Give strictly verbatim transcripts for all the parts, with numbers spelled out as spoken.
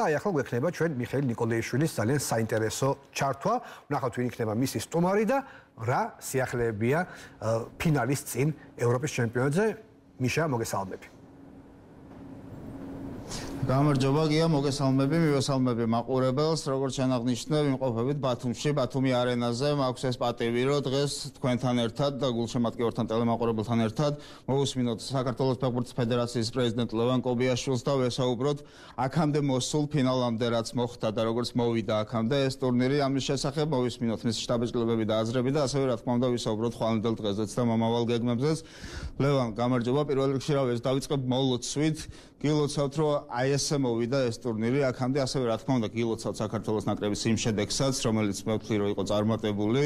და აი ახლა გვექნება ჩვენ მიხეილ ნიკოლაიშვილის ძალიან საინტერესო ჩართვა. ვნახავთ ვინ იქნება მისი სტუმარი და რა სიახლეებია ფინალის წინ ევროპის ჩემპიონატზე. მიშა, მოგესალმები. გამარჯობა გია, მოგესალმები, მივესალმები მაყურებელს, როგორც ჩანაღნიშნე, ვიმყოფებით ბათუმში, ბათუმი არენაზე, მაქვს ეს პატივი, რომ დღეს თქვენთან ერთად და გულშემატკივართან ტელემაყურებელთან ერთად მოვუსმინოთ საქართველოს ფეხბურთის ფედერაციის პრეზიდენტ ლევან კობიაშვილს და ვესაუბროთ აქამდე მოსულ ფინალამდე, რაც მოხდა და როგორც მოვიდა აქამდე ეს ტურნირი, ამის შესახებ მოვისმინოთ მის შტაბის-კლებები და აზრები და ასევე რა თქმა უნდა ვისაუბროთ ხვალინდელ დღეზეც და მომავალ გეგმებზეც. ლევან, გამარჯობა, პირველ რიგში რა ეს დავიწყებ მოლოცვით. გილოცავთ, რომ აი ესე მოვიდა ეს ტურნირი აქამდე, ასევე რა თქმა უნდა გილოცავთ საქართველოს ნაკრების იმ შედეგსაც, რომელიც მე ვთვლი, რომ იყო წარმატებული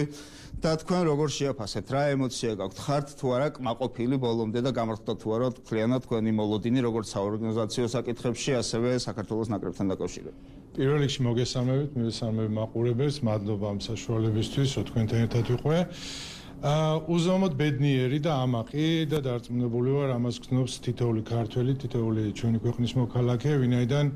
და თქვენ როგორ შეაფასეთ, რა ემოცია გაქვთ, ხართ თუ არა კმაყოფილი ბოლომდე და გამართლდა თუ არა თქვენად თქვენი მოლოდინი როგორც საორგანიზაციო საკითხებში, ასევე საქართველოს ნაკრებთან დაკავშირებით. პირველ რიგში მოგესალმებით, მივესალმები მაყურებელს, მადლობა ამ საშუალებისთვის, რომ თქვენთან ერთად ვიყვე. უზომოდ ბედნიერი და ამაყი და დარწმუნებული ვარ, ამას გრძნობს თითოეული ქართველი, თითოეული ჩვენი ქვეყნის მოქალაქე, ვინაიდან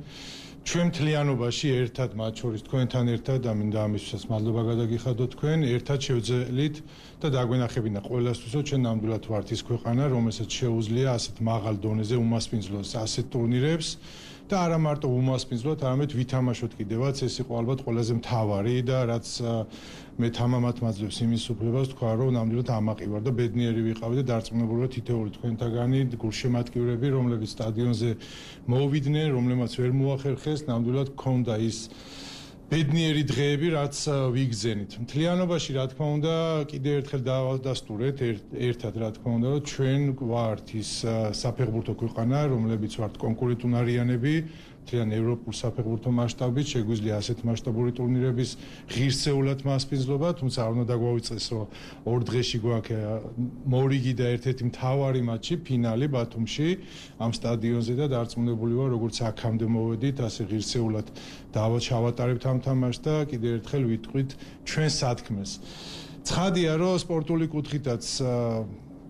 ჩვენ მთლიანობაში ერთად, მათ შორის თქვენთან ერთად და მინდა ამისთვისაც მადლობა გადაგიხადოთ თქვენ, ერთად შევძელით და დაგვენახებინა ყველასთვის, რომ ჩვენ ნამდვილად ვართ ის ქვეყანა, რომელსაც შეუძლია ასეთ მაღალ დონეზე უმასპინძლოს ასეთ ტურნირებს. და არა მარტო უმასპინძლოთ, არამედ ვითამაშოთ კიდევაც, ეს იყო ალბათ ყველაზე მთავარი და რაც მე თამამად მაძლევს იმის უფლებას თქვა, რომ ნამდვილად ამაყი ვარ და ბედნიერი ვიყავი და დარწმუნებული ვარ თითოეული თქვენთაგანი გულშემატკივრები, რომლებიც სტადიონზე მოვიდნენ, რომლებმაც ვერ მოახერხეს, ნამდვილად გქონდა ის ბედნიერი დღეები, რაც ვიგზენით. მთლიანობაში, რა თქმა უნდა, კიდევ ერთხელ დავადასტურეთ ერთად, რა თქმა უნდა, რომ ჩვენ ვართ ის საფეხბურთო ქვეყანა, რომლებიც ვართ კონკურენტუნარიანები, მთლიან ევროპულ საფეხბურთო მასშტაბით, შეგვიძლია ასეთ მასშტაბური ტურნირების ღირსეულად მასპინძლობა, თუმცა არ უნდა დაგვაუწყდეს, რომ ორ დღეში გვაქვს მორიგი და ერთ-ერთი მთავარი მატჩი, ფინალი ბათუმში, ამ სტადიონზე და დარწმუნებული ვარ, როგორც აქამდე მოვედით, ასე ღირსეულად დავაჩავატარებთ ამ თამაშს და კიდევ ერთხელ ვიტყვით ჩვენ სათქმეს. ცხადია, რომ სპორტული კუთხითაც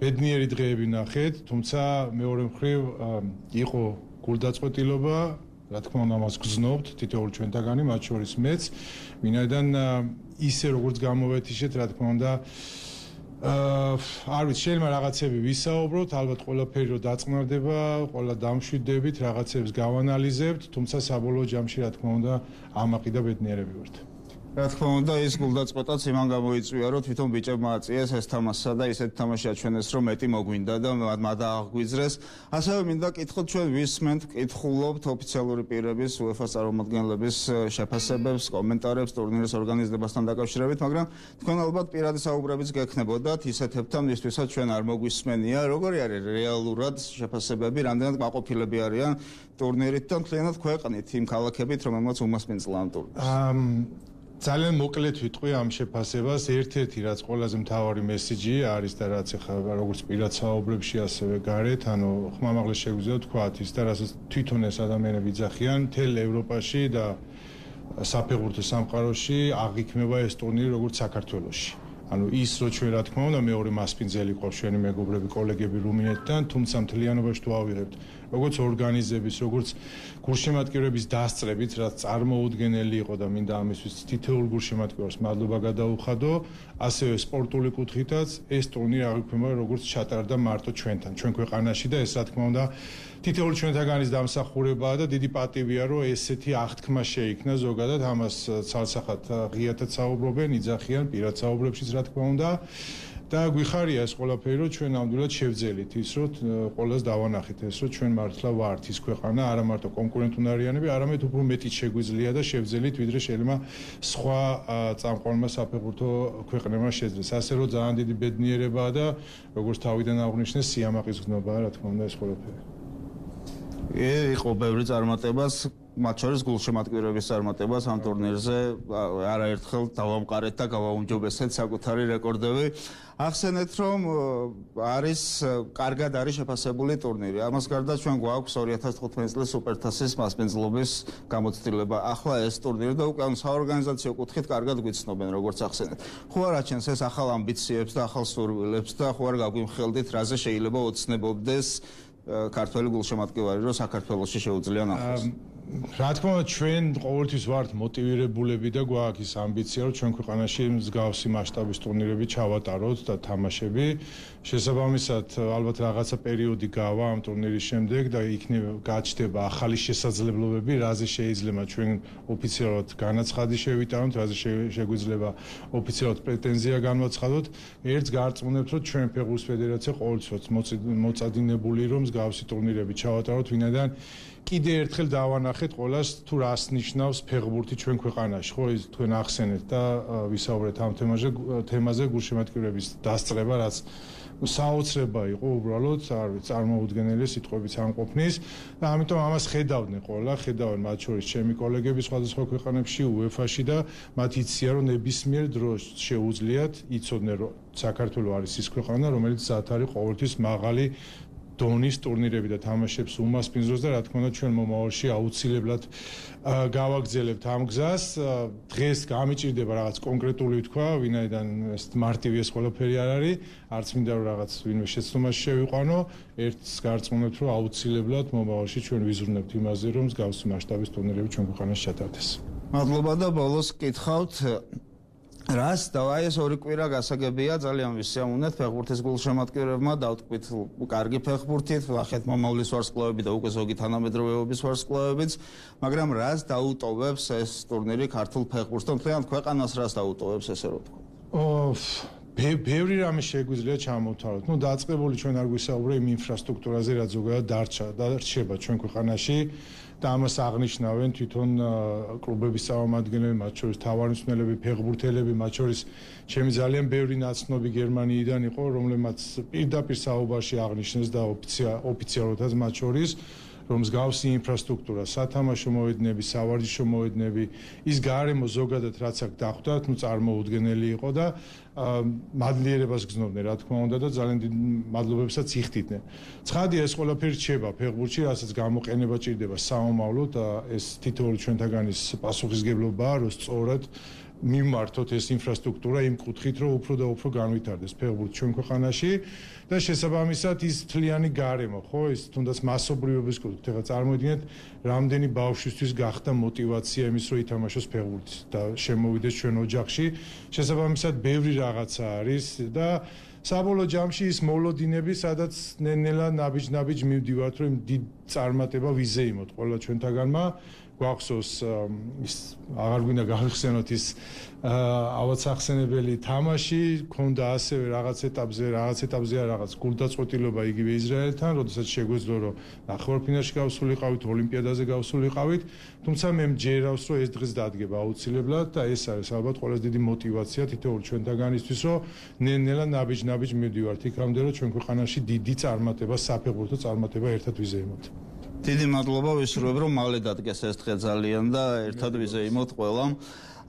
ბედნიერი დღეები ნახეთ, თუმცა მეორე მხრივ იყო გულდაწყვეტილობა, რა თქმა უნდა, მას გრძნობთ თითოეული ჩვენთაგანი, მათ შორის მეც, ვინაიდან ისე როგორც გამოვეთიშეთ, რა თქმა უნდა, არ ვიცი, შეიძლება რაღაცები ვისაუბროთ, ალბათ ყველაფერი რომ დაწყნარდება, ყველა დამშვიდდებით, რაღაცებს გავანალიზებთ, თუმცა საბოლოო ჯამში, რა თქმა უნდა, ამაყი და ბედნიერები ვართ. რა თქმა უნდა, ის გულდაწყვეტაც იმან გამოიწვია, რომ თვითონ ბიჭებმა აწიეს ეს თამაშსა და ისეთ თამაში აჩვენეს, რომ მეტი მოგვინდა და მადააღვიძრეს. ასევე მინდა კითხოთ, ჩვენ ვისმენთ, კითხულობთ ოფიციალური პირების, უეფა-ს წარმომადგენლების შეფასებებს, კომენტარებს ტურნირის ორგანიზებასთან დაკავშირებით, მაგრამ თქვენ ალბათ პირადი საუბრებიც გექნებოდათ ისეთებთან, ვისთვისაც ჩვენ არ მოგვისმენია, როგორი არის რეალურად შეფასებები, რამდენად კმაყოფილები არიან ტურნირით და მთლიანად ქვეყნით იმ ქალაქებით, რომელმაც უმასპინძლა ამ ტურნირს. ძალიან მოკლედ ვიტყვი ამ შეფასებას, ერთ-ერთი რაც ყველაზე მთავარი მესიჯი არის და რაც ახლა როგორც პირად საუბრებში ასევე გარეთ, ანუ ხმამაღლა შეგვიძლია ვთქვათ ის და რასაც თვითონ ეს ადამიანები იძახიან, მთელ ევროპაში და საფეხბურთო სამყაროში აღიქმება ეს ტურნირი როგორც საქართველოში. ანუ ის რო ჩვენ რა თქმა უნდა მეორე მასპინძელი ყავს ჩვენი მეგობრები, კოლეგები რუმინეთიდან, თუმცა მთლიანობაში თუ ავიღებთ, როგორც ორგანიზების, როგორც გულშემატკივრების დასწრებით, რაც წარმოუდგენელი იყო და მინდა ამისთვის თითოეულ გულშემატკივარს მადლობა გადაუხადო, ასევე სპორტული კუთხითაც ეს ტურნირი აღიქმება როგორც ჩატარდა მარტო ჩვენთან, ჩვენ ქვეყანაში და ეს რა თქმა უნდა თითოეული ჩვენთაგანის დამსახურებაა და დიდი პატივია, რომ ესეთი აღთქმა შეიქმნა ზოგადად, ამას ცალსახად ღიათად საუბრობენ, იძახიან პირად საუბრებშიც რა თქმა უნდა და გვიხარია ეს ყველაფერი, რომ ჩვენ ნამდვილად შევძელით ის, რომ ყველას დავანახეთ ეს, რომ ჩვენ მართლა ვართ ის ქვეყანა, არა მარტო კონკურენტუნარიანები, არამედ უფრო მეტიც შეგვიძლია და შევძელით, ვიდრე შეიძლება სხვა წამყვანმა საფეხბურთო ქვეყნებმა შეძლეს. ასე რომ ძალიან დიდი ბედნიერებაა და როგორც თავიდან აღვნიშნეს, სიამაყის გზნობაა, რა თქმა უნდა, ეს ყველაფერი. იყო ბევრი წარმატებას, მათ შორის გულშემატკივრების წარმატებას ამ ტურნირზე არაერთხელ დავამყარეთ და გავაუმჯობესეთ საკუთარი რეკორდები. ახსენეთ, რომ არის კარგად არის შეფასებული ტურნირი. ამას გარდა ჩვენ გვაქვს ორი ათას თხუთმეტი წლის სუპერთასის მასპინძლობის გამოცდილება. ახლა ეს ტურნირი და უკვე საორგანიზაციო კუთხით კარგად გვიცნობენ, როგორც ახსენეთ. ხო არ აჩენს ეს ახალ ამბიციებს და ახალ სურვილებს და ხო არ გაგვიმხელდით, რაზე შეიძლება ოცნებობდეს ქართველი გულშემატკივარი, რომ საქართველოში შეუძლია ნახოს. რა თქმა უნდა ჩვენ ყოველთვის ვართ მოტივირებულები და გვაქვს ის ამბიცია რომ ჩვენ ქვეყანაში მსგავსი მასშტაბის ტურნირები ჩავატაროთ და თამაშები შესაბამისად ალბათ რაღაცა პერიოდი გავა ამ ტურნირის შემდეგ და იქნება გაჩნდება ახალი შესაძლებლობები რაზე შეიძლება ჩვენ ოფიციალურად განაცხადი შევიტანოთ რაზე შეგვიძლია ოფიციალურად პრეტენზია განვაცხადოთ ერთს გარწმუნებთ რომ ჩვენ ფეხბურთის ფედერაცია ყოველთვის მოწადინებული რომ მსგავსი ტურნირები ჩავატაროთ ვინაიდან კიდე ერთხელ დავანახეთ ყველას თუ რას ნიშნავს ფეხბურთი ჩვენ ქვეყანაში ხო ის თქვენ ახსენეთ და ვისაუბრეთ ამ თემაზე თემაზე გულშემატკივრების დასწრება რაც საოცრება იყო უბრალოდ არ ვიცი წარმოუდგენელი სიტყვებით ამყოფნის და ამიტომ ამას ხედავდნენ ყველა ხედავენ მათ შორის ჩემი კოლეგები სხვადასხვა ქვეყანებში უეფა-ში და მათ იციან რომ ნებისმიერ დროს შეუძლიათ იცოდნენ რომ საქართველოს არის ის ქვეყანა რომელიც ზათ არის ყოველთვის მაღალი დონის ტურნირები და თამაშებს უმასპინძლოს და რა თქმა უნდა ჩვენ მომავალში აუცილებლად გავაგრძელებთ ამ გზას დღეს გამიჭირდება რაღაც კონკრეტული თქვა ვინაიდან ეს მარტივი ეს ყველაფერი არ არის არც მინდა რომ რაღაც ვინმე შეცდომაში შევიყვანო ერთს გარწმუნებთ რომ აუცილებლად მომავალში ჩვენ ვიზრუნებთ იმაზე რომ მსგავსი მასშტაბის ტურნირები ჩვენ ქვეყანაში ჩატარდეს მადლობა და ბოლოს კითხავთ რას და აი ეს ორი კვირა გასაგებია ძალიან ვისიამოვნეთ ფეხბურთის გულშემატკივრებმა დავტყვით კარგი ფეხბურთით ვახეთ მომავლის ვარსკვლავები და უკვე ზოგი თანამედროვეობის ვარსკვლავებიც მაგრამ რას დაუტოვებს ეს ტურნირი ქართულ ფეხბურთს და მთლიანად ქვეყანას რას დაუტოვებს ესე რომ თქვა ბევრი რამე შეგვიძლია ჩამოვთვალოთ ნუ დაწყებული ჩვენ არ გვისაუბრე იმ ინფრასტრუქტურაზე რაც ზოგადად დარჩა დარჩება ჩვენ ქვეყანაში და ამას აღნიშნავენ თვითონ კლუბების წარმომადგენლები, მათ შორის თავარისმცემლები, ფეხბურთელები, მათ შორის ჩემი ძალიან ბევრი ნაცნობი გერმანიიდან იყო, რომლებმაც პირდაპირ საუბარში აღნიშნეს და ოფიციალურადაც მათ შორის რომ მსგავსი ინფრასტრუქტურა, სათამაშო მოედნები, სავარჯიშო მოედნები, ის გარემო ზოგადად რაც აქ დახვდათ, ნუ წარმოუდგენელი იყო და მადლიერებას გზნობდნენ, რა თქმა უნდა და ძალიან დიდ მადლობებსაც იხდიდნენ. ცხადია ეს ყველაფერი რჩება ფეხბურთში, რასაც გამოყენება ჭირდება საომავლოდ და ეს თითოეული ჩვენთაგანის პასუხისგებლობაა, რომ სწორად მიმართოთ ეს ინფრასტრუქტურა იმ კუთხით, რომ უფრო და უფრო განვითარდეს ფეხბურთი ჩვენ ქვეყანაში და შესაბამისად ის თლიანი გარემო, ხო, ის თუნდაც მასობრივობის კუთხით, ეხლა წარმოიდგინეთ, რამდენი ბავშვისთვის გახდა мотиваცია იმის, რომ ითამაშოს ფეხბურთი და შემოვიდეს ჩვენ ოჯახში. შესაბამისად, ბევრი რაღაცა არის და საბოლოო ჯამში ის მოლოდინები, სადაც ნელ-ნელა ნაბიჯ-ნაბიჯ მივდივართ, რომ დიდ წარმატება ვიზეიმოთ ყველა ჩვენთაგანმა. გვახსოვს ის აღარ გვინდა გავიხსენოთ ის ავაცახსენებელი თამაში ქონდა ასევე რაღაც ეტაპზე რაღაც ეტაპზე რაღაც გულდაწყვეტილობა იგივე ისრაელთან როდესაც შეგვეძლო რომ ნახევარფინალში გავსულიყავით ოლიმპიადაზე გავსულიყავით თუმცა მე მჯერავს რომ ეს დღეს დადგება აუცილებლად და ეს არის ალბათ ყველაზე დიდი мотиваცია თითოეულ ჩვენთაგანისთვის რომ ნელ-ნელა ნაბიჯ-ნაბიჯ მივდივართ იქამდე რომ ჩვენ ქვეყანაში დიდი წარმატება საფეხბურთო წარმატება ერთად ვიზეიმოთ დიდი მადლობა ვისურვებ რომ მალე დადგეს ეს დღე ძალიან და ერთად ვიზეიმოთ ყველამ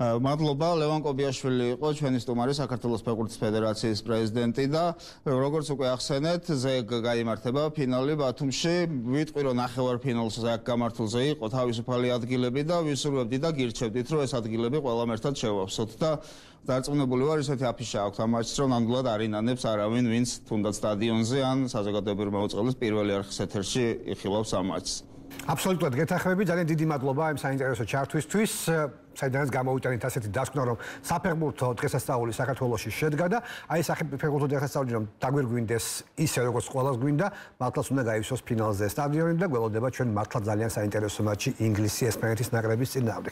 მადლობა ლევან კობიაშვილი იყო ჩვენი სტუმარი საქართველოს ფეხბურთის ფედერაციის პრეზიდენტი და როგორც უკვე ახსენეთ ზეგ გაიმართება ფინალი ბათუმში ვიტყვი რომ ნახევარფინალს აქ გამართულზე იყო თავისუფალი ადგილები და ვისურვებდი და გირჩევდით რომ ეს ადგილები ყველამ ერთად შევავსოთ და დარწმუნებული ვარ ისეთი აფიშა აქვს ამ მატჩს რომ ნამდვილად არ ინანებს არავინ ვინც თუნდაც სტადიონზე ან საზოგადოებრივ მოწყობილების პირველი არხის ეთერში იხილავს ამ მატჩს აბსოლუტურად გეთანხმები ძალიან დიდი მადლობა იმ საინტერესო ჩართვისთვის საიდანაც გამოვიტანეთ ასეთი დასკვნა რომ საფეხბურთო დღესასწაული საქართველოში შედგა და აი საფეხბურთო დღესასწაული რომ დაგვირგვინდეს ისე როგორც ყველას გვინდა მართლაც უნდა გაივსოს ფინალზე სტადიონი და გველოდება ჩვენ მართლა ძალიან საინტერესო მატჩი ინგლისი ესპანეთის ნაკრების წინააღმდეგ